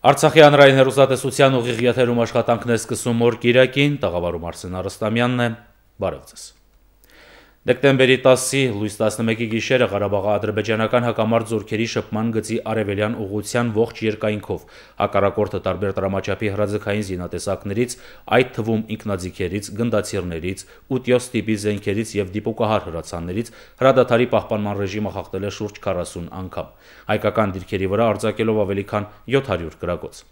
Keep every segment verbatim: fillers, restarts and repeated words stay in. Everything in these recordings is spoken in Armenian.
Արցախի հանրային հեռուստատեսության ուղիղ եթերում աշխատանքներ սկսում օր կիրակին, տաղավարում Արսեն Արստամյանն է, բարև ձեզ։ Դեկտեմբերի տասի լույս տասնմեկի գիշերը Ղարաբաղի ադրբեջանական հակամարտ զորքերի շփման գծի արևելյան ուղղության ողջ երկայնքով հակառակորդը տարբեր տրամաչափի հրաձգային զինատեսակներից, այդ թվում ինքնաձիգերից, գնդացիրներից, ութ տիպի զենքերից եւ դիպուկահար հրացաններից հրադադարի պահպանման ռեժիմը խախտել է շուրջ քառասուն անգամ, հայկական դիրքերի վրա արձակելով ավելի քան յոթ հարյուր գրակոց։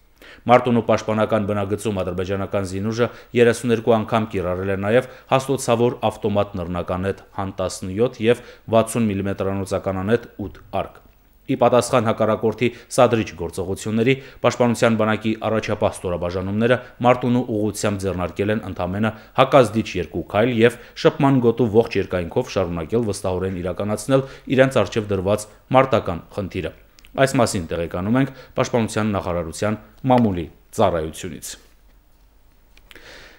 Մարտունու պաշտպանական բնագծում ադրբեջանական զինուժը երեսունյոթ անգամ կիրառել է նաև հաստոցավոր ավտոմատ նռնականետ հան տասնյոթ եւ վաթսուն միլիմետրանոց ականանետ ութ արկ։ Ի պատասխան հակառակորդի սադրիչ գործողությունների պաշտպանության բանակի առաջապահ ստորաբաժանումները Մարտունու ուղղությամբ ձեռնարկել են ընդամենը հակազդիչ երկու քայլ եւ շփման գոտու ողջ երկայնքով շարունակել վստահորեն իրականացնել իրենց առջև դրված մարտական խնդիրը։ Այս մասին տեղեկանում ենք Պաշտպանության նախարարության մամուլի ծառայությունից։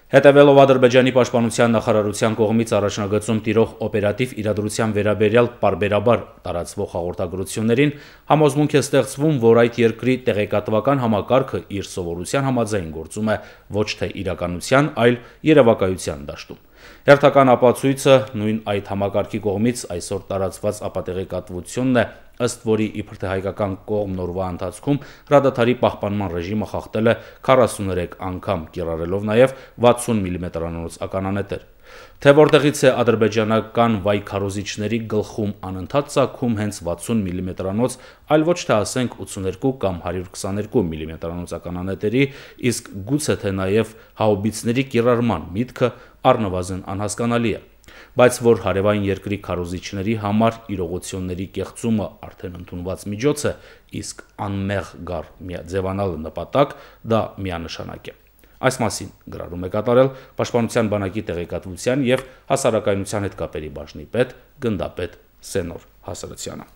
Հետևելով Ադրբեջանի պաշտպանության նախարարության կողմից առաջնագծում տիրող օպերատիվ իրադրության վերաբերյալ պարբերաբար տարածվող հաղորդագրություններին, համոզմունք է ստեղծվում, որ այդ երկրի տեղեկատվական համակարգը իր սովորության համաձայն գործում է ոչ թե իրականության, այլ երևակայության դաշտում։ Հերթական ապացույցը նույն այդ համակարգի կողմից այսօր տարածված ապատեղեկատվությունն է, ըստ որի իբր թե հայկական կողմն օրվա ընթացքում հրադադարի պահպանման ռեժիմը խախտել է քառասուներեք անգամ, կիրառելով նաև վաթսուն միլիմետրանոց ականանետեր։ Թե որտեղից է ադրբեջանական վայ քարոզիչների գլխում անընդհատ ծագում հենց վաթսուն միլիմետրանոց, այլ ոչ թե ասենք ութսուներկու կամ հարյուր քսաներկու միլիմետրանոց ականանետերի, իսկ գուցե թե նաև հաուբիցների կիրառման միտքը առնվազն անհասկանալի է, բայց որ հարևան երկրի քարոզիչների համար իրողությունների կեղծումը արդեն ընդունված միջոց է, իսկ անմեղ գառ ձևանալը նպատակ, դա միանշանակ է։ Այս մասին գրառում է կատարել Պաշտպանության բանակի տեղեկատվության եւ հասարակայնության հետ կապերի բաժնի պետ գնդապետ Սենոր Հասարցյանը։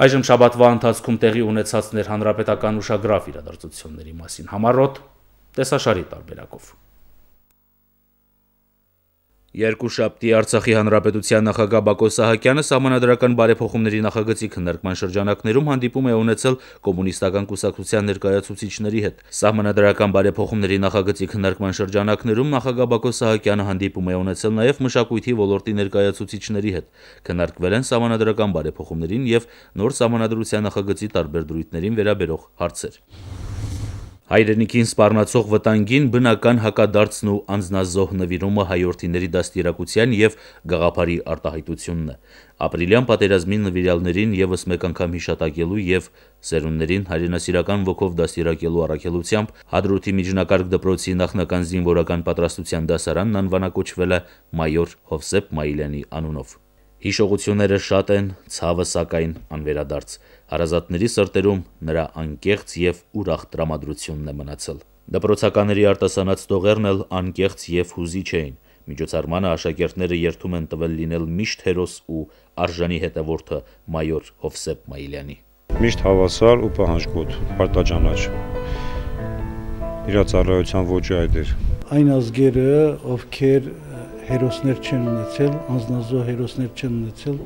Այժմ շաբաթվա ընթացքում տեղի ունեցած ներհանրապետական ուշագրավ իրադարձությունների մասին համառոտ տեսաշարի տարբերակով։ Երկուշաբթի Արցախի հանրապետության նախագահ Բակո Սահակյանը սահմանադրական բարեփոխումների նախագծի քննարկման շրջանակներում հանդիպում է ունեցել կոմունիստական կուսակցության ներկայացուցիչների հետ։ Սահմանադրական բարեփոխումների նախագծի քննարկման շրջանակներում նախագահ Բակո Սահակյանը հանդիպում է ունեցել նաև մշակույթի ոլորտի ներկայացուցիչների հետ։ Քննարկվել են սահմանադրական բարեփոխումներին եւ նոր սահմանադրության նախագծի տարբեր դրույթներին վերաբերող հարցեր։ Հայրենիքին սպառնացող վտանգին բնական հակադարձն ու անձնազոհ նվիրումը հայորդիների դաստիարակության եւ գաղափարի արտահայտությունն է։ Ապրիլյան պատերազմի նվիրյալներին եւս մեկ անգամ հիշատակելու եւ սերունդներին հայրենասիրական ոգով դաստիարակելու առաքելությամբ Հադրութի միջնակարգ դպրոցի նախնական զինվորական պատրաստության դասարանն անվանակոչվել է մայոր Հովսեփ Մայիլյանի անունով։ Հիշողությունները շատ են, ցավը սակայն անվերադարձ։ Հարազատների սրտերում նրա անկեղծ եւ ուրախ տրամադրությունն է մնացել։ Դպրոցականների արտասանած տողերն էլ անկեղծ եւ հուզիչ էին։ Միջոցառմանը աշակերտները երդում են տվել լինել միշտ հերոս ու արժանի հետևորդը մայոր Հովսեփ Մայիլյանի։ Միշտ հավասար ու պահանջկոտ, պարտաճանաչ։ Իր ծառայության ոճը այդ էր։ Այն ազգերը, ովքեր հերոսներ չեն ունեցել, անձնազոհ հերոսներ չեն ունեցել,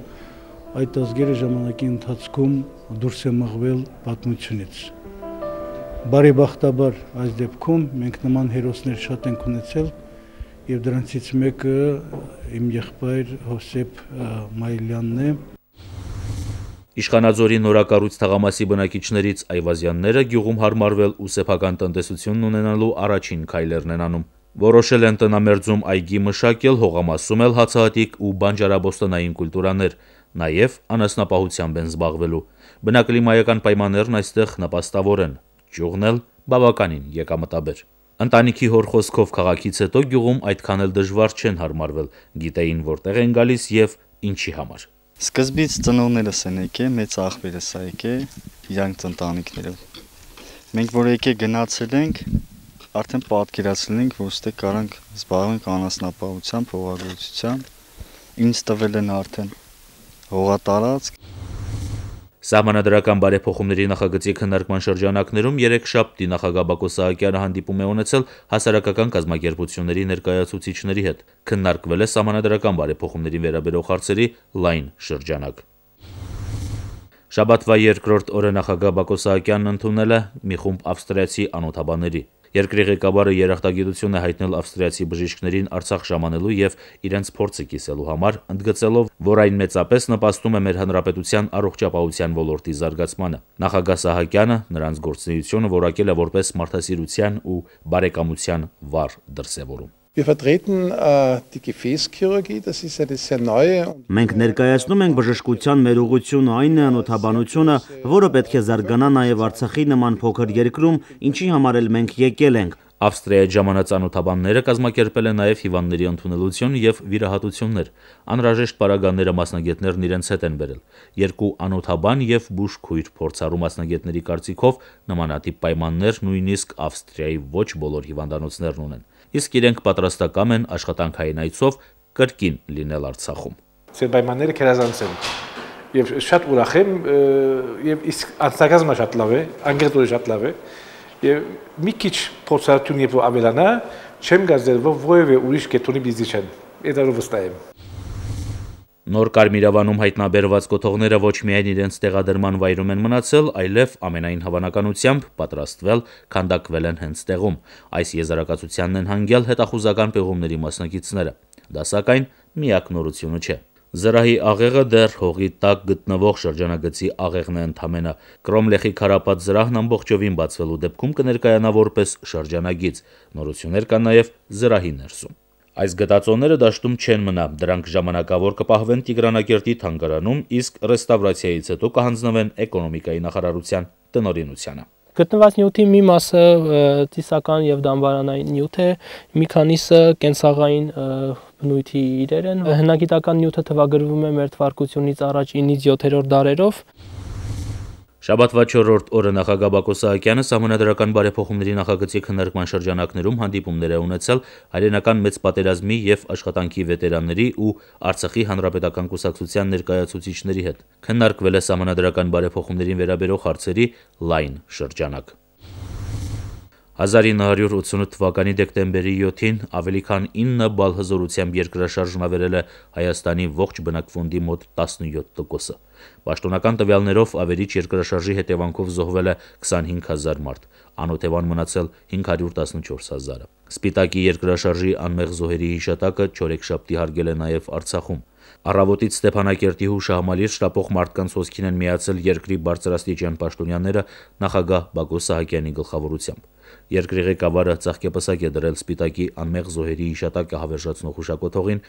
այդ ազգերը ժամանակի ընթացքում դուրս է մղվել պատմությունից։ Բարեբախտաբար այս դեպքում մենք նման հերոսներ շատ ենք ունեցել եւ դրանցից մեկը իմ եղբայր Հովսեփ Մայիլյանն է։ Իշխանաձորի նորակառույց թաղամասի բնակիչներից Այվազյանները գյուղում հարմարվել ու սեփական տնտեսությունն ունենալու առաջին քայլերն են անում։ Որոշել են տնամերձում այգի մշակել, հողամասում էլ հացահատիկ ու բանջարաբոստանային կուլտուրաներ, նաև անասնապահությամբ են զբաղվելու։ Բնակլիմայական պայմաններն այստեղ նպաստավոր են, ճյուղն էլ բավականին եկամտաբեր։ Ընտանիքի հոր խոսքով քաղաքից հետո գյուղում այդքան էլ դժվար չեն հարմարվել, գիտեին որտեղ են գալիս եւ ինչի համար։ Սկզբից ծնողներս են եկել, մեծ աղբերս ա եկել, իրանք ընտանիքներով։ Մենք որ եկել գնացել ենք, արդեն պատկերացրել ենք, որ ստե կարանք զբաղվենք անասնապահությամբ, հողագործությամբ, ինձ տվել են արդեն հողատարածք։ Սահմանադրական բարեփոխումների նախագծի քննարկման շրջանակներում երեքշաբթի նախագահ Բակո Սահակյանը հանդիպում է ունեցել հասարակական կազմակերպությունների ներկայացուցիչների հետ։ Քննարկվել է սահմանադրական բարեփոխումներին վերաբերող հարցերի լայն շրջանակ։ Շաբաթվա երկրորդ օրը նախագահ Բակո Սահակյանն ընդունել է մի խումբ ավստրիացի անօթաբանների։ Երկրի ղեկավարը երախտագիտություն է հայտնել ավստրիացի բժիշկներին Արցախ ժամանելու եւ իրենց փորձը կիսելու համար, ընդգծելով, որ այն մեծապես նպաստում է մեր հանրապետության առողջապահության ոլորտի զարգացմանը։ Նախագահ Սահակյանը նրանց գործունեությունը որակել է որպես մարդասիրության ու բարեկամության վառ դրսևորում։ Wir vertreten äh, die Gefäßchirurgie, das ist eine sehr neue. Մենք ներկայացնում ենք բժշկության մեր ուղղությունը այն է անօթաբանությունը, որը պետք է զարգանա նաև Արցախի նման փոքր երկրում, ինչի համար էլ մենք եկել ենք։ Ավստրիայի ժամանած անօթաբանները կազմակերպել են նաև հիվանդների ընդունելություն եւ վիրահատություններ։ Անհրաժեշտ պարագաները մասնագետներն իրենց հետ են բերել։ Երկու անօթաբան եւ բուժքույր փորձառու մասնագետների կարծիքով նմանատիպ պայմաններ նույնիսկ Ավստրիայի ոչ բոլոր հիվանդանոցներն ունեն։ Իսկ իրենք պատրաստակամ են աշխատանքային այցով կրկին լինել Արցախում։ Ձեր պայմանները քերազանց են։ Եվ շատ ուրախ եմ, եւ իսկ անցակազմը շատ լավ է, անգերտորը շատ լավ է։ Եվ մի քիչ փորձառություն եւ ավելանա, չեմ գազել, որ որևէ ուրիշ կետոնի բիզնես չեն։ Դա վստահ եմ։ Նոր Կարմիրավանում հայտնաբերված կոթողները ոչ միայն իրենց տեղադրման վայրում են մնացել, այլև ամենայն հավանականությամբ պատրաստվել, քանդակվել են հենց տեղում։ Այս եզրակացությանն են հանգյալ հետախուզական պեղումների մասնակիցները։ Դա սակայն միակ նորությունը չէ։ Զրահի աղեղը դեռ հողի տակ գտնվող շրջանագծի աղեղն է ընդամենը։ Կրոմլեխի քարապատ զրահն ամբողջովին բացվելու դեպքում կներկայանա որպես շրջանագիծ։ Նորություններ կան նաև զրահի ներսում։ Այս գտածոները դաշտում չեն մնա, դրանք ժամանակավոր կպահվեն Տիգրանակերտի թանգարանում, իսկ ռեստավրացիայից հետո կհանձնվեն էկոնոմիկայի նախարարության տնօրինությանը։ Գտնված նյութի մի մասը ծիսական եւ դամբարանային նյութ է, մի քանիսը կենցաղային բնույթի իրեր են։ Հնագիտական նյութը թվագրվում է մեր թվարկությունից առաջ ինից յոթերորդ դարերով։ Շաբաթվա չորրորդ օրը նախագահ Բակո Սահակյանը սահմանադրական բարեփոխումների նախագծի քննարկման շրջանակներում հանդիպումներ է ունեցել հայրենական մեծ պատերազմի եւ աշխատանքի վետերանների ու Արցախի հանրապետական կուսակցության ներկայացուցիչների հետ։ Քննարկվել է սահմանադրական բարեփոխումներին վերաբերող հարցերի լայն շրջանակ։ հազար ինը հարյուր ութսունութ թվականի դեկտեմբերի յոթին ավելի քան ինը բալ հզորությամբ երկրաշարժն ավերել է Հայաստանի ողջ բնակվոնդի մոտ տասնյոթ տոկոսը։ Պաշտոնական տվյալներով ավերիչ երկրաշարժի հետևանքով զոհվել է քսանհինգ հազար մարդ, անօթևան մնացել հինգ հարյուր տասնչորս հազարը։ Սպիտակի երկրաշարժի անմեղ զոհերի հիշատակը չորեքշաբթի հարգել է նաև Արցախում։ Առավոտից Ստեփանակերտի հուշահամալիր շտապող մարդկանց հոսքին են միացել երկրի բարձրաստիճան պաշտոնյաները նախագահ Բակո Սահակյանի գլխավորությամբ։ Երկրի ղեկավարը ծաղկեպսակ է դրել Սպիտակի անմեղ զոհերի հիշատակը հավերժացնող հուշակոթողին,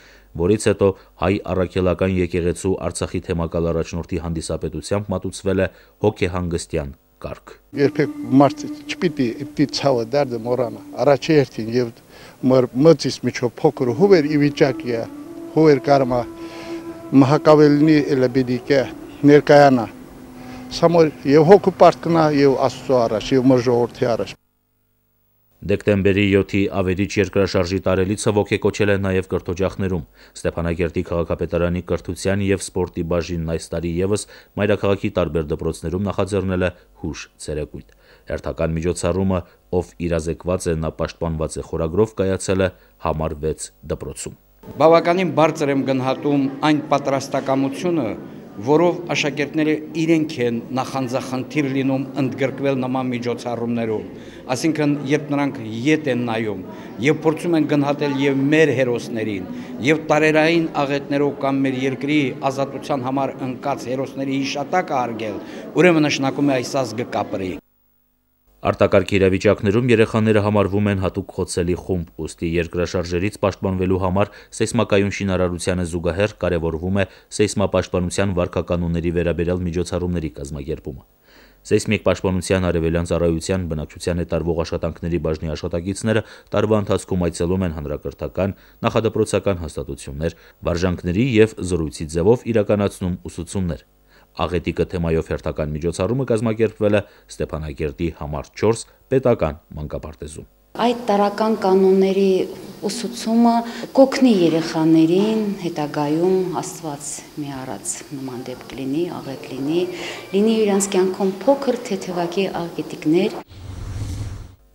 որից հետո հայ առաքելական եկեղեցու Արցախի թեմակալ առաջնորդի հանդիսապետությամբ մատուցվել է հոգեհանգստյան կարգ։ Երբեք մարդ չպիտի պիտի ցավը դարձը մոռանա։ Առաջերտին եւ մտից միջով փոքր հուվեր ի վիճակի է, հուվեր կարմա մահակավելնի էլեբիդիկը ներկայանա։ Սամոր եւ հոգու պարտքնա եւ Աստծո առաջ եւ մեր ժողովրդի առաջ։ Դեկտեմբերի յոթի ավերիչ երկրաշարժի տարելիցը ոգեկոչել է նաև կրթօջախներում։ Ստեփանակերտի քաղաքապետարանի կրթության եւ սպորտի բաժինն այս տարի եւս մայրաքաղաքի տարբեր դպրոցներում նախաձեռնել է հուշ ցերեկույթ։ Հերթական միջոցառումը, ով իրազեկված է, նա պաշտպանված է խորագրով, կայացել է համար վեց դպրոցում։ Բավականին բարձր եմ գնահատում այն պատրաստակամությունը, որով աշակերտները իրենք են նախանձախնդիր լինում ընդգրկվել նման միջոցառումներում, այսինքն երբ նրանք ետ են նայում եւ փորձում են գնահատել եւ մեր հերոսներին եւ տարերային աղետներով կամ մեր երկրի ազատության համար ընկած հերոսների հիշատակը արգել, ուրեմն նշանակում է այս ազգը կապրի։ Արտակարգ իրավիճակներում երեխաները համարվում են հատուկ խոցելի խումբ, ուստի երկրաշարժերից պաշտպանվելու համար սեյսմակայուն շինարարությանը զուգահեռ կարևորվում է սեյսմապաշտպանության վարքականոնների վերաբերյալ միջոցառումների կազմակերպումը։ Սեյսմիկ պաշտպանության արևելյան ծառայության բնակչության հետ տարվող աշխատանքների բաժնի աշխատակիցները տարվա ընթացքում այցելում են հանրակրթական, նախադպրոցական հաստատություններ, վարժանքների եւ զրույցի ձևով իրականացնում ուսուցումներ։ Աղետիկը թեմայով հերթական միջոցառումը կազմակերպվել է Ստեփանակերտի համար չորս պետական մանկապարտեզում։ Այդ տարական կանոնների ուսուցումը կօգնի երեխաներին հետագայում Աստված մի արած նման դեպք լինի, աղետ լինի, լինի իրանց կյանքում փոքր թեթևակի աղետիկներ։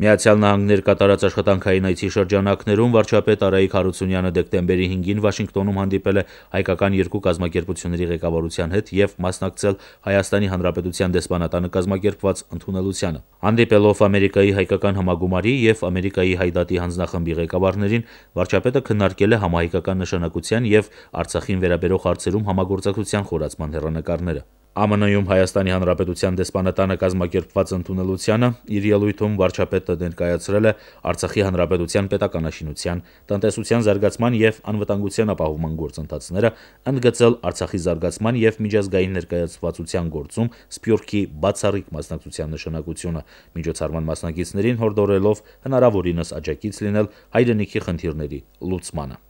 Միացյալ Նահանգներ կատարած աշխատանքային այցի շրջանակներում վարչապետ Արայիկ Հարությունյանը դեկտեմբերի հինգին Վաշինգտոնում հանդիպել է հայկական երկու կազմակերպությունների ղեկավարության հետ եւ մասնակցել Հայաստանի Հանրապետության դեսպանատանը կազմակերպված ընդունելությանը։ Հանդիպելով Ամերիկայի հայկական համագումարի եւ Ամերիկայի հայդատի հանձնախմբի ղեկավարներին, վարչապետը քննարկել է համահայկական նշանակության եւ Արցախին վերաբերող հարցերում համագործակցության խորացման հեռանկարները։ Ամն Հայ-ում Հայաստանի Հանրապետության դեսպանատանը կազմակերպված ընդունելությանը իր ելույթում վարչապետը ներկայացրել է Արցախի Հանրապետության պետականաշինության, տնտեսության զարգացման եւ անվտանգության ապահովման գործընթացները, ընդգծել Արցախի զարգացման եւ միջազգային ներկայացվածության գործում Սփյուռքի բացառիկ մասնակցության նշանակությունը, միջոցառման մասնակիցներին հորդորելով հնարավորինս աջակից լինել հայրենիքի խնդիրների լուծմանը։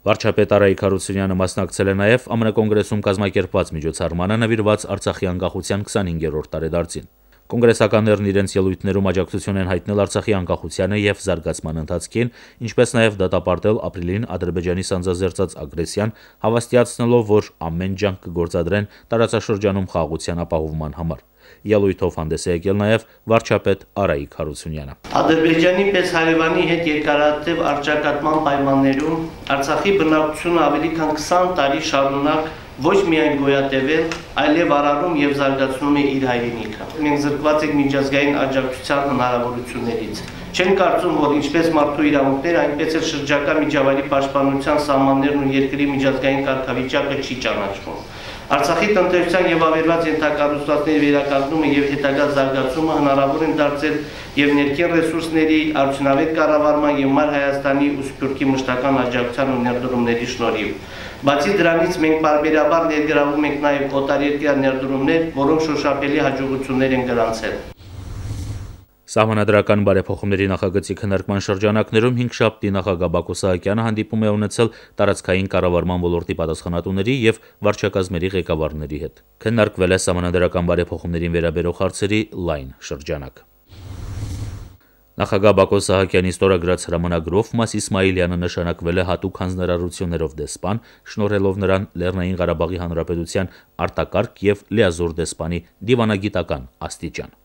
Վարչապետ Արայիկ Հարությունյանը մասնակցել է նաև ԱՄՆ կոնգրեսում կազմակերպված միջոցառմանը նվիրված Արցախի անկախության քսանհինգերորդ տարեդարձին։ Կոնգրեսականներն իրենց ելույթներում աջակցություն են հայտնել Արցախի անկախությանը եւ զարգացման ընթացքին, ինչպես նաև դատապարտել ապրիլին Ադրբեջանի սանձազերծած ագրեսիան, հավաստիացնելով, որ ամեն ջանք կգործադրեն տարածաշրջանում խաղաղության ապահովման համար։ Ելույթով հանդես է եկել նաև վարչապետ Արայիկ Հարությունյանը։ Ադրբեջանի պես հարևանի հետ երկարատև առճակատման պայմաններում Արցախի բնակչությունը ավելի քան քսան տարի շարունակ ոչ միայն գոյատևել, այլև արարում եւ զարգացնում է իր հայրենիքը։ Մենք զրկված ենք միջազգային աջակցության հնարավորություններից։ Չեն կարծում, որ ինչպես մարդու իրավունքները, այնպես էլ շրջակա միջավայրի պաշտպանության սահմաններն ու երկրի միջազգային կարգավիճակը չի ճանաչվում։ Արցախի տնտեսության եւ ավերված ենթակառուցվածքների վերականգնումը եւ հետագա զարգացումը հնարավոր են դարձել եւ ներքին ռեսուրսների արդյունավետ կառավարման եւ Մար Հայաստանի ու Սփյուռքի մշտական աջակցության ու ներդրումների շնորհիվ։ Բացի դրանից մենք բարբերաբար ներգրավում ենք նաեւ օտարերկրյա ներդրումներ, որոնք շոշափելի հաջողություններ են գրանցել։ Սահմանադրական բարեփոխումների նախագծի քննարկման շրջանակներում հինգշաբթի նախագահ Բակո Սահակյանը հանդիպում է ունեցել տարածքային կառավարման ոլորտի պատասխանատուների եւ վարչակազմերի ղեկավարների հետ։ Քննարկվել է սահմանադրական բարեփոխումներին վերաբերող հարցերի լայն շրջանակ։ Նախագահ Բակո Սահակյանի ստորագրած հրամանագրով Մաս Իսմայիլյանը նշանակվել է հատուկ հանձնարարություններով դեսպան, շնորհելով նրան Լեռնային Ղարաբաղի Հանրապետության արտակարգ եւ լիազոր դեսպանի դիվանագիտական աստիճան։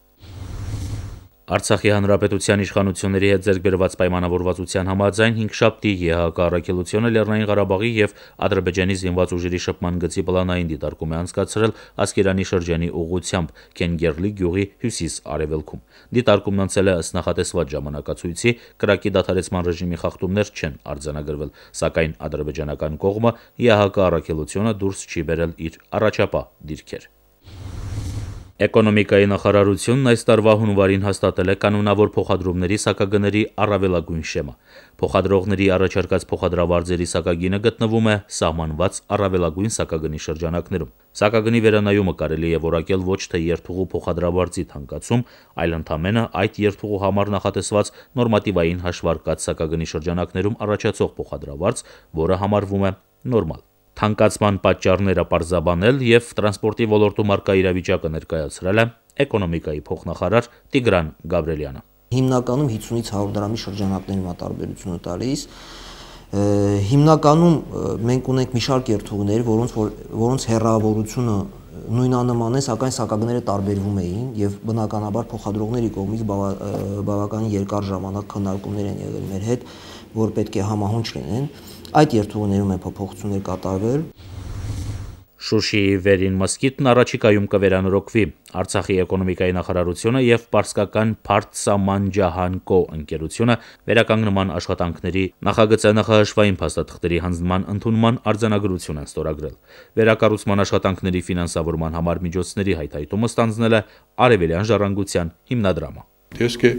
Արցախի Հանրապետության իշխանությունների հետ ձեռք բերված պայմանավորվածության համաձայն հինգշաբթի ԵՀԿ առաքելությունը Լեռնային Ղարաբաղի եւ Ադրբեջանի զինված ուժերի շփման գծի պլանային դիտարկում է անցկացրել Ասկերանի շրջանի ուղղությամբ Քենգերլի գյուղի հյուսիս-արևելքում։ Դիտարկումն անցել է ըստ նախատեսված ժամանակացույցի, կրակի դադարեցման ռեժիմի խախտումներ չեն արձանագրվել, սակայն ադրբեջանական կողմը ԵՀԿ առաքելությունը դուրս չի բերել իր առաջապահ դիրքեր։ Էկոնոմիկայի նախարարությունն այս տարվա հունվարին հաստատել է կանոնավոր փոխադրումների սակագների առավելագույն շեմա։ Փոխադրողների առաջարկած փոխադրավարձերի սակագինը գտնվում է սահմանված առավելագույն սակագնի շրջանակներում։ Սակագնի վերանայումը կարելի է որակել ոչ թե երթուղու փոխադրավարձի թանկացում, այլ ընդամենը այդ երթուղու համար նախատեսված նորմատիվային հաշվարկած սակագնի շրջանակներում առաջացող փոխադրավարձ, որը համարվում է նորմալ։ Թանկացման պատճառները պարզաբանել եւ տրանսպորտի ոլորտում արկա իրավիճակը ներկայացրել է էկոնոմիկայի փոխնախարար Տիգրան Գաբրելյանը։ Հիմնականում հիսունից հարյուր դրամի շրջանակներում է տարբերությունը տալիս։ Հիմնականում մենք ունենք մի շարք երթուղներ, որոնց որոնց հեռավորությունը նույնանման է, սակայն սակագները տարբերվում էին եւ բնականաբար փոխադրողների կողմից բավականին երկար ժամանակ քննարկումներ են եղել մեր հետ, որ պետք է համահունչ լինեն։ Այդ երթուղներում է փոփոխություններ կատարվել։ Շուշիի վերին մզկիթն առաջիկայում կվերանորոգվի։ Արցախի էկոնոմիկայի նախարարությունը եւ պարսկական Փարթսամանջահանկո ընկերությունը վերականգնման աշխատանքների նախագծի նախահաշվային փաստաթղթերի հանձնման ընդունման արձանագրություն են ստորագրել։ Վերակառուցման աշխատանքների ֆինանսավորման համար միջոցների հայթայթումը ստանձնել է Արևելյան ժառանգության հիմնադրամը։ Տեսք է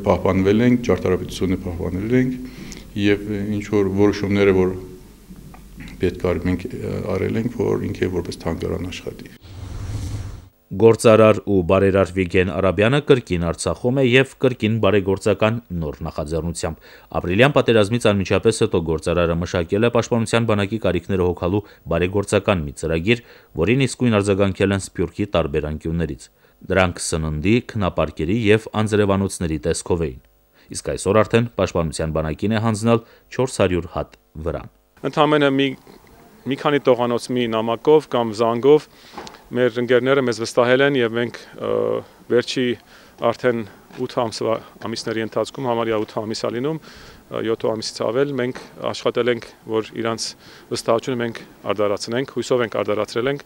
պահպանվել ենք, ճարտարապետությունը պահպանել ենք եւ ինչ որ որոշումները, որ պետք է մենք արել ենք, որ ինքը որպես թանգարան աշխատի։ Գործարար ու բարերար Վիգեն Արաբյանը կրկին Արցախում է եւ կրկին բարեգործական նոր նախաձեռնությամբ։ Ապրիլյան պատերազմից անմիջապես հետո գործարարը մշակել է Պաշտպանության բանակի կարիքները հոգալու բարեգործական մի ծրագիր, որին իսկույն արձագանքել են Սփյուռքի տարբեր անկյուններից։ Դրանք սննդի, քնապարկերի եւ անձրևանոցների տեսքով էին։ իսկ այսօր արդեն Պաշտպանության բանակին է հանձնել չորս հարյուր հատ վրան։ Ընդամենը մի մի քանի տողանոց մի նամակով կամ զանգով մեր ընկերները մեզ վստահել են եւ մենք վերջի արդեն ութ ամիսների ընթացքում համարյա ութ ամիս ալինում յոթ ամիսից ավել մենք աշխատել ենք, որ իրանց վստահությունը մենք արդարացնենք, հույսով ենք արդարացրել ենք,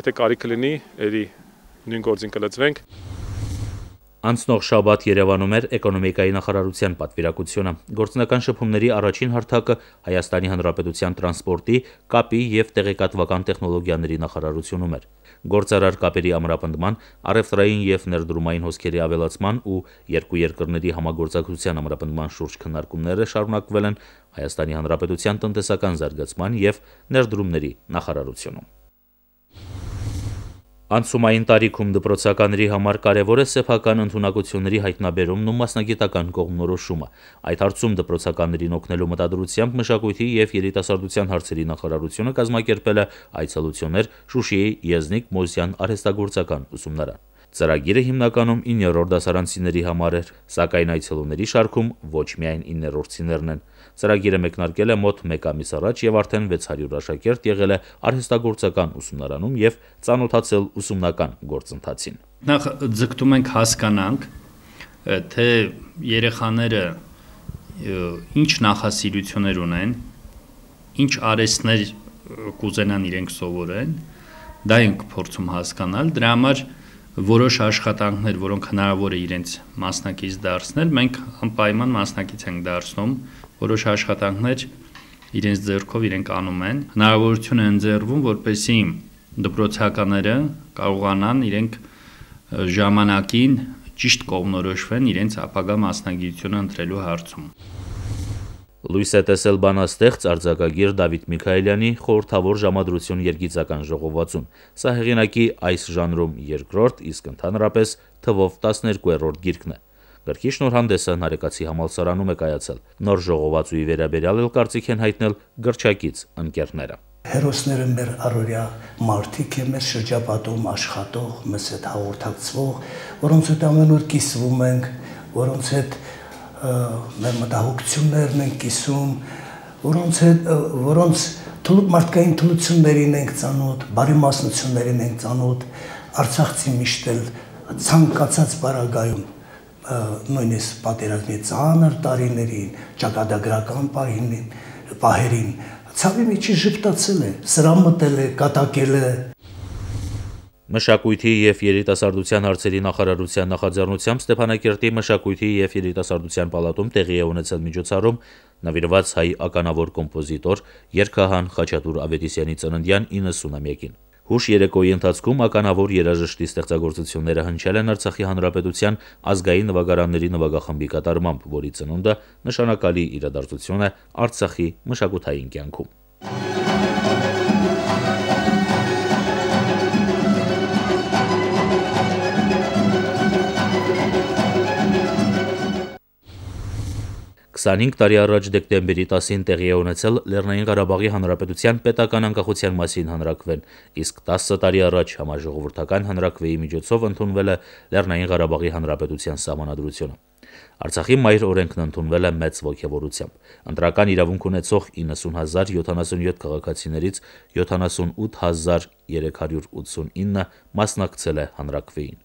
եթե կարիք լինի, երի նույն գործին կլծվենք։ Անցնող շաբաթ Երևանում էր էկոնոմիկայի նախարարության պատվիրակությունը։ Գործնական շփումների առաջին հարթակը Հայաստանի Հանրապետության տրանսպորտի, կապի եւ տեղեկատվական տեխնոլոգիաների նախարարությունում էր։ Գործարար կապերի ամրապնդման, առևտրային եւ ներդրումային հոսքերի ավելացման ու երկու երկրների համագործակցության ամրապնդման շուրջ քննարկումները շարունակվել են Հայաստանի Հանրապետության տնտեսական զարգացման եւ ներդրումների նախարարությունում։ Անցումային տարիքում դպրոցականների համար կարևոր է սեփական ընդունակությունների հայտնաբերումն ու մասնագիտական կողմնորոշումը։ Այդ հարցում դպրոցականներին օգնելու մտադրությամբ Մշակույթի եւ երիտասարդության հարցերի նախարարությունը կազմակերպել է այցելություններ Շուշիի Եզնիկ Մոսյան արհեստագործական ուսումնարան։ Ծրագիրը հիմնականում իններորդ դասարանցիների համար էր, սակայն այցելուների շարքում ոչ միայն իններորդցիներն են։ Ծրագիրը մեկնարկել է մոտ մեկ ամիս առաջ եւ արդեն վեց հարյուր աշակերտ եղել է արհեստագործական ուսումնարանում եւ ծանոթացել ուսումնական գործընթացին։ Նախ ձգտում ենք հասկանանք, թե երեխաները ինչ նախասիրություններ ունեն, ինչ արհեստներ կուզենան իրենք սովորեն, դա ենք փորձում հասկանալ, դրա համար որոշ աշխատանքներ, որոնք հնարավոր է իրենց մասնակից դարձնել, մենք անպայման մասնակից ենք դարձնում, որոշ աշխատանքներ իրենց ձեռքով իրենք անում են, հնարավորություն է ընձեռվում, որպեսզի դպրոցականները կարողանան իրենք ժամանակին ճիշտ կողմնորոշվեն իրենց ապագա մասնագիտությունը ընտրելու հարցում։ Լույս է տեսել բանաստեղծ արձակագիր Դավիթ Միքայելյանի խորհրդավոր ժամադրություն երգիծական ժողովածուն։ Սա հեղինակի այս ժանրում երկրորդ, իսկ ընդհանրապես թվով տասներկուերորդ գիրքն է։ Գրքի շնորհանդեսը Նարեկացի համալսարանում է կայացել։ Նոր ժողովածուի վերաբերյալ էլ կարծիք են հայտնել գրչակից ընկերները։ Հերոսները մեր առօրյա մարդիկ են, մեր շրջապատում աշխատող, մեզ հետ հաղորդակցվող, որոնց հետ ամեն օր կիսվում ենք, որոնց հետ մեր մտահոգություններն ենք կիսում, որոնց հետ որոնց մարդկային թուլություններին ենք ծանոթ, բարեմասնություններին ենք ծանոթ, Արցախցի միշտ էլ ցանկացած պարագայում նույնիսկ պատերազմի ծանր տարիներին, ճակատագրական պահերին ցավի միջի ժպտացել է, սրամտել է, կատակել է։ Մշակույթի եւ երիտասարդության հարցերի նախարարության նախաձեռնությամբ Ստեփանակերտի Մշակույթի եւ երիտասարդության պալատում տեղի է ունեցել միջոցառում նվիրված հայ ականավոր կոմպոզիտոր երգահան Խաչատուր Ավետիսյանի ծննդյան իննսունամյակին։ Հուշ երեկոյի ընթացքում ականավոր երաժշտի ստեղծագործությունները հնչել են Արցախի Հանրապետության ազգային նվագարանների նվագախմբի կատարմամբ, որի ծնունդը նշանակալի իրադարձություն է Արցախի մշակութային կյանքում։ քսանհինգ տարի առաջ դեկտեմբերի տասին տեղի է ունեցել Լեռնային Ղարաբաղի Հանրապետության պետական անկախության մասին հանրաքվեն, իսկ տասը տարի առաջ համաժողովրդական հանրաքվեի միջոցով ընդունվել է Լեռնային Ղարաբաղի Հանրապետության սահմանադրությունը։ Արցախի մայր օրենքն ընդունվել է մեծ ոգևորությամբ։ Ընտրական իրավունք ունեցող իննսուն հազար յոթանասունյոթ քաղաքացիներից յոթանասունութ հազար երեք հարյուր ութսունինը մասնակցել է հանրաքվեին։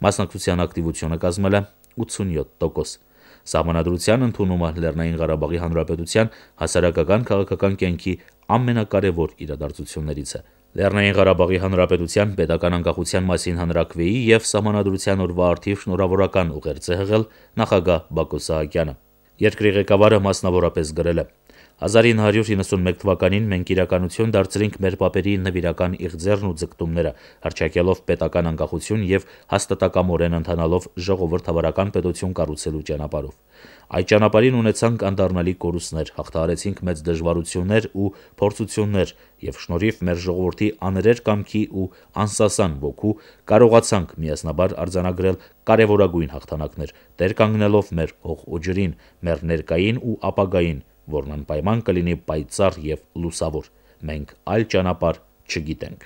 Մասնակցության ակտիվությունը կազմել է ութսունյոթ տոկոս։ Սահմանադրության ընդունումը Լեռնային Ղարաբաղի Հանրապետության հասարակական քաղաքական կյանքի ամենակարևոր իրադարձություններից է։ Լեռնային Ղարաբաղի Հանրապետության պետական անկախության մասին հանրաքվեի եւ Սահմանադրության օրվա արդիվ շնորհավորական ուղերձ է հղել նախագահ Բակո Սահակյանը։ Երկրի ղեկավարը մասնավորապես գրել է. հազար ինը հարյուր իննսունմեկ թվականին մենք իրականություն դարձրինք մեր պապերի նվիրական իղձերն ու ձգտումները, հռչակելով պետական անկախություն եւ հաստատակամորեն ընթանալով ժողովրդավարական պետություն կառուցելու ճանապարհով։ Այդ ճանապարհին ունեցանք անդառնալի կորուստներ, հաղթահարեցինք մեծ դժվարություններ ու փորձություններ եւ շնորհիվ մեր ժողովրդի աներեր կամքի ու անսասան ոգու կարողացանք միասնաբար արձանագրել կարևորագույն հաղթանակներ, դեր կանգնելով մեր հող ու ջրին, մեր ներկային ու ապագային, որն անպայման կլինի պայծառ եւ լուսավոր։ Մենք այլ ճանապարհ չգիտենք։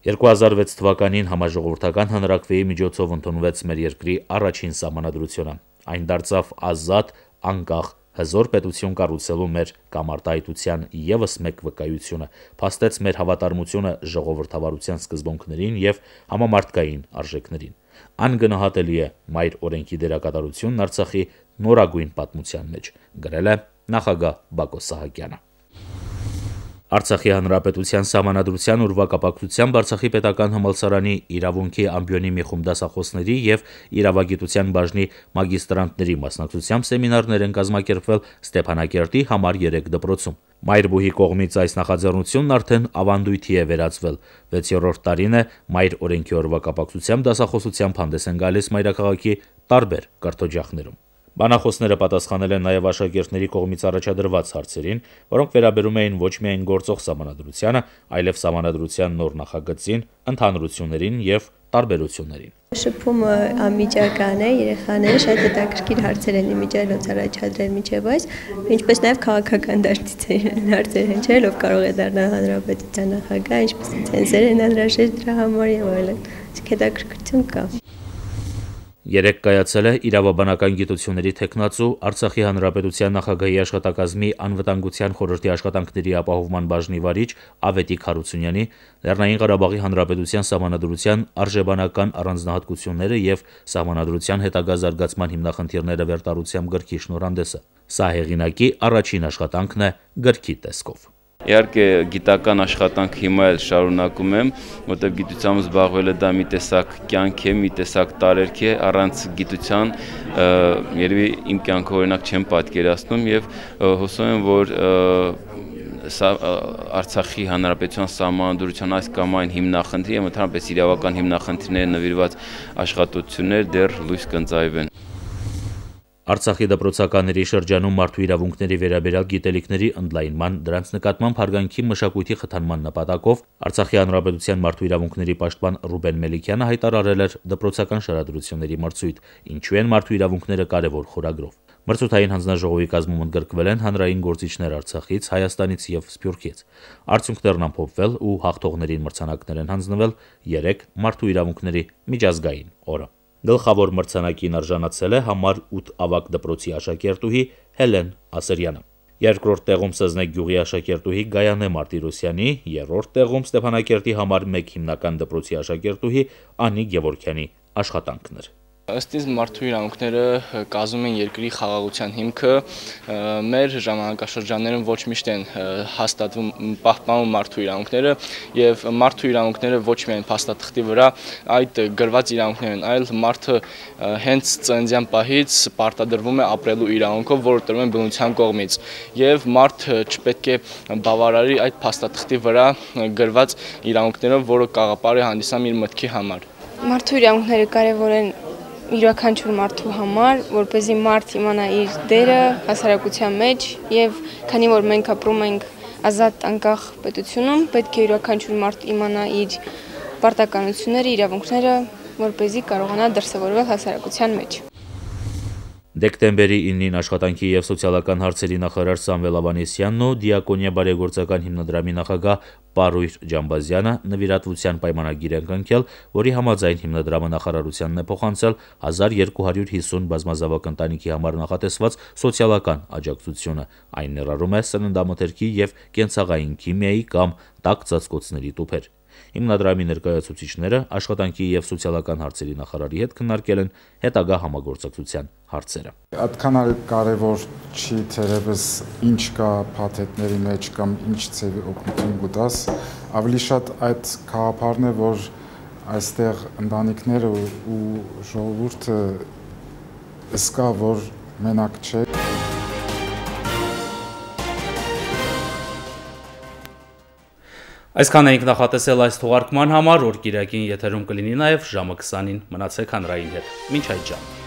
երկու հազար վեց թվականին համաժողովրդական հանրաքվեի միջոցով ընդունվեց մեր երկրի առաջին սահմանադրությունը։ Այն դարձավ ազատ, անկախ, հզոր պետություն կառուցելու մեր կամարտահայտության ևս մեկ վկայությունը, փաստեց մեր հավատարմությունը ժողովրդավարության սկզբունքներին եւ համամարտկային արժեքներին։ Անգնահատելի է մայր օրենքի դերակատարությունն Արցախի նորագույն պատմության մեջ, գրել է նախագահ Բակո Սահակյանը։ Արցախի հանրապետության սահմանադրության ուրվակապակցությամբ Արցախի պետական համալսարանի իրավունքի ամբիոնի մի խումբ դասախոսների եւ իրավագիտության բաժնի մագիստրանտների մասնակցությամբ սեմինարներ են կազմակերպվել Ստեփանակերտի համար երեք դպրոցում։ Մայրբուհի կողմից այս նախաձեռնությունն արդեն ավանդույթի է վերածվել։ վեցերորդ տարին է մայր օրենքի օրվա կապակցությամբ դասախոսությամբ հանդես են գալիս մայրաքաղաքի տարբեր կրթօջախներում։ Բանախոսները պատասխանել են նաև աշակերտների կողմից առաջադրված հարցերին, որոնք վերաբերում էին ոչ միայն գործող սահմանադրությանը, այլև սահմանադրության նոր նախագծին, ընդհանրություններին եւ տարբերություններին։ Շփումը անմիջական է, երեխաները շատ հետաքրքիր հարցեր են իմիջիայլոց առաջադրել միջև այս, ինչպես նաև քաղաքական դաշտից են հարցեր հնչել, ով կարող է դառնալ հանրապետության նախագահ, ինչպես ցենզեր են անհրաժեշտ դրա համար եւ այլն։ Իսկ հետաքրքրություն կա։ Երեկ կայացել է իրավաբանական գիտությունների թեկնածու Արցախի հանրապետության նախագահի աշխատակազմի անվտանգության խորհրդի աշխատանքների ապահովման բաժնի վարիչ Ավետիք Հարությունյանի, Լեռնային Ղարաբաղի հանրապետության սահմանադրության արժեբանական առանձնահատկությունները եւ սահմանադրության հետագա զարգացման հիմնախնդիրները վերտարությամբ գրքի շնորհանդեսը։ Սա հեղինակի առաջին աշխատանքն է գրքի տեսքով։ Իհարկե գիտական աշխատանք հիմա էլ շարունակում եմ, որտեղ գիտությամբ զբաղվելը դա մի տեսակ կյանք է, մի տեսակ տարերք է, առանց գիտության երևի իմ կյանքը օրինակ չեմ պատկերացնում եւ հուսով եմ, որ Արցախի հանրապետության սահմանադրության այս կամ այն հիմնախնդրի եւ ընդհանրապես իրավական հիմնախնդիրները նվիրված աշխատություններ դեռ լույս կընծայվեն։ Արցախի դպրոցականների շրջանում մարդու իրավունքների վերաբերյալ գիտելիքների ընդլայնման, դրանց նկատմամբ հարգանքի մշակույթի խթանման նպատակով Արցախի հանրապետության մարդու իրավունքների պաշտպան Ռուբեն Մելիքյանը հայտարարել էր դպրոցական շարադրությունների մրցույթ, ինչու են մարդու իրավունքները կարևոր խորագրով։ Մրցութային հանձնաժողովի կազմում ընդգրկվել են հանրային գործիչներ Արցախից, Հայաստանից եւ Սփյուռքից։ Արդյունքներն ամփոփվել ու հաղթողներին մրցանակներ են հանձնվել երեք մարդու իրավունքների միջազգային օրը։ Գլխավոր մրցանակին արժանացել է համար ութ ավագ դպրոցի աշակերտուհի Հելեն Ասերյանը։ Երկրորդ տեղում Սզնեկ գյուղի աշակերտուհի Գայանե Մարտիրոսյանի, երրորդ տեղում Ստեփանակերտի համար մեկ հիմնական դպրոցի աշակերտուհի Անի Գևորգյանի աշխատանքն էր։ Ըստ ինձ մարդու իրավունքները կազմում են երկրի խաղաղության հիմքը, մեր ժամանակաշրջաններում ոչ միշտ են հաստատվում պահպանվում մարդու իրավունքները եւ մարդու իրավունքները ոչ միայն փաստաթղթի վրա այդ գրված իրավունքներ են, այլ մարդը հենց ծննդյան պահից պարտադրվում է ապրելու իրավունքով, որը տրվում է բնության կողմից եւ մարդը չպետք է բավարարի այդ փաստաթղթի վրա գրված իրավունքներով, որը կաղապար է հանդիսանում իր մտքի համար։ Մարդու իրավունքները կարևոր են յուրաքանչյուր մարդու համար, որպեսզի մարդ իմանա իր դերը հասարակության մեջ եւ քանի որ մենք ապրում ենք ազատ անկախ պետությունում, պետք է յուրաքանչյուր մարդ իմանա իր պարտականությունները, իրավունքները, որպեսզի կարողանա դրսևորվել հասարակության մեջ։ Դեկտեմբերի իննին աշխատանքի եւ սոցիալական հարցերի նախարար Սամվել Ավանեսյանն ու Դիակոնիա բարեգործական հիմնադրամի նախագահ Պարույր Ջամբազյանը նվիրատվության պայմանագիր են կնքել, որի համաձայն հիմնադրամը նախարարությանն է փոխանցել հազար երկու հարյուր հիսուն բազմազավակ ընտանիքի համար նախատեսված սոցիալական աջակցությունը։ Այն ներառում է սննդամթերքի եւ կենցաղային քիմիայի կամ տաք ծածկոցների տուփեր։ Հիմնադրամի ներկայացուցիչները աշխատանքի եւ սոցիալական հարցերի նախարարի հետ քննարկել են հետագա համագործակցության հարցերը։ Այդքան էլ կարևոր չի թերևս ինչ կա փաթեթների մեջ կամ ինչ ծեվի օգնություն կտաս, ավելի շատ այդ գաղափարն է, որ այստեղ ընտանիքները ու ժողովուրդը զգա, որ մենակ չէ։ Այսքան էինք նախատեսել այս թողարկման համար, որ Կիրակին եթերում կլինի նաև ժամը քսանին։ Մնացեք հանրային հետ։ Մինչ այդ ժամը։